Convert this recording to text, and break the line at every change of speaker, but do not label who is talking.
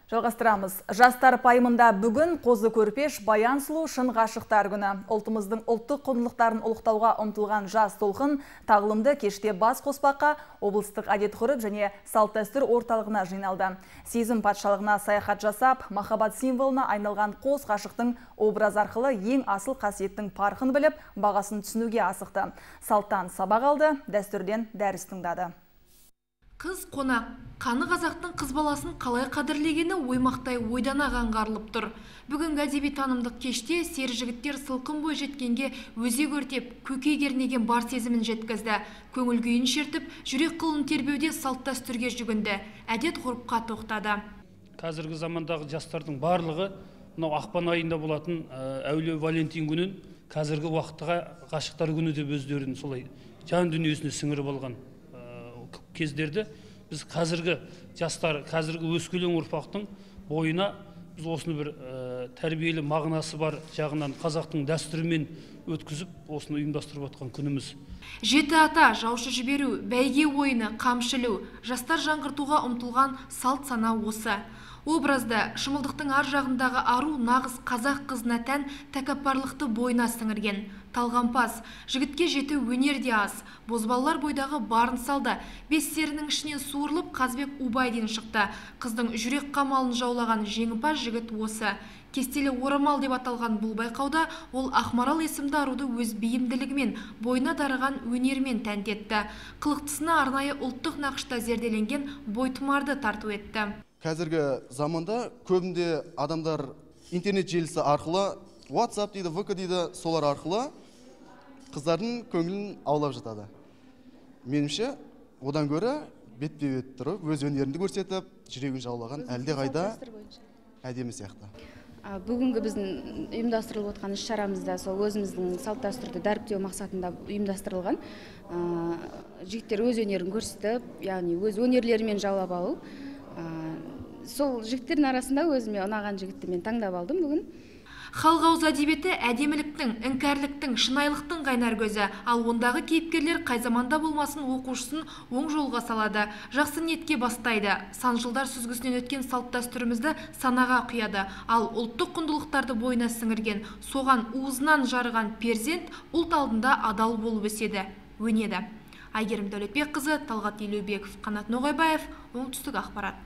Жалғастырамыз. Жастар пайымында бүгін қозы көрпеш баян сұлу шын ғашықтар күні. Ұлтымыздың ұлттық құндылықтарын ұлықтауға ұмтылған жас толқын тағылымды кеште бас қоспаққа облыстық әдет-ғұрып және салт-дәстүр орталығына жиналды. Сезім патшалығына саяхат жасап, махаббат символына айналған қос ғашықтың образ арқылы ең асыл қасиеттің парқын біліп, бағасын түсінуге асықты. Салттан сабақ алды, дәстүрден дәріс тыңдады.
Қыз қонақ, қаны қазақтың қыз баласын қалай қадірлегені оймақтай ойдана аңғарылып тұр. Бүгінгі әдеби танымдық кеште сер жігіттер сылқым бой жеткенге өзек өртеп, көкей кернеген бар сезімін жеткізді. Көңіл күйін шертіп, жүрек қылын тербеуде салт-дәстүрге жүгінді. Әдет-ғұрыпқа тоқтады.
Қазіргі замандағы жастардың барлығы мынау ақпан айында болатын әулие Валентин күнін қазіргі уақытқа ғашықтар күні деп өздерін солай жан дүниесіне сіңіріп алған кездерді біз қазіргі жастар, қазіргі өскелең ұрпақтың бойына біз осыны бір тәрбиелі мағынасы бар жағынан қазақтың дәстүрімен өткізіп, осыны ұйымдастырып отқан күніміз.
Жеті ата, жаушы жіберу, бәйге ойыны, қамшылу, жастар жаңғыртуға ұмтылған салт сана осы. Образда шымылдықтың ар жағындағы ару нағыз қазақ қызына тән тәкаппарлықты бойына сіңірген. Талғампаз, жігітке жеті өнер де аз. Бозбалалар бойдағы барын салды. Бес серінің ішінен суырылып Қазбек Убайден шықты. Қыздың жүрек қамалын жаулаған жеңімпаз жігіт осы. Кестелі орамал деп аталған бұл байқауда ол Ақмарал есімді аруды өз бейімділігімен, бойына дарыған өнермен тәнтетті. Қылықтысына арнайы ұлттық нақышта зерделенген бойтұмарды тарту етті.
Қазіргі заманда көбінде адамдар интернет желісі арқылы, WhatsApp дейді, VK дейді, солар арқылы қыздардың көңілін аулап жатады. Меніңше, одан көрі бетпе-бет тұрып, өз өнерінді көрсетіп, жүрегін жаулаған әлде қайда әдемі сияқты.
Бүгінгі біздің ұйымдастырылып отқан іс-шарамызда сол өзіміздің салт-дәстүрді дәріптеу мақсатында ұйымдастырылған. Жігіттер өз өнерін көрсетіп, яғни өз өнерлерімен жаулап алу. Сол жігіттердің арасында өзіме ұнаған жігітті мен таңдап алдым бүгін.
Халық ауыз әдебиеті әдеміліктің, іңкәрліктің, шынайылықтың қайнар көзі, ал ондағы кейіпкерлер қай заманда болмасын оқушысын оң жолға салады, жақсы ниетке бастайды. Сан жылдар сүзгісінен өткен салт-дәстүрімізді санаға құяды, ал ұлттық құндылықтарды бойына сіңірген, соған уызынан жарыған перзент ұлт алдында адал болып өседі, өнеді. Айгерім Дәулетбекқызы, Талғат Елеубеков, Қанат Ноғайбаев, Оңтүстік ақпарат.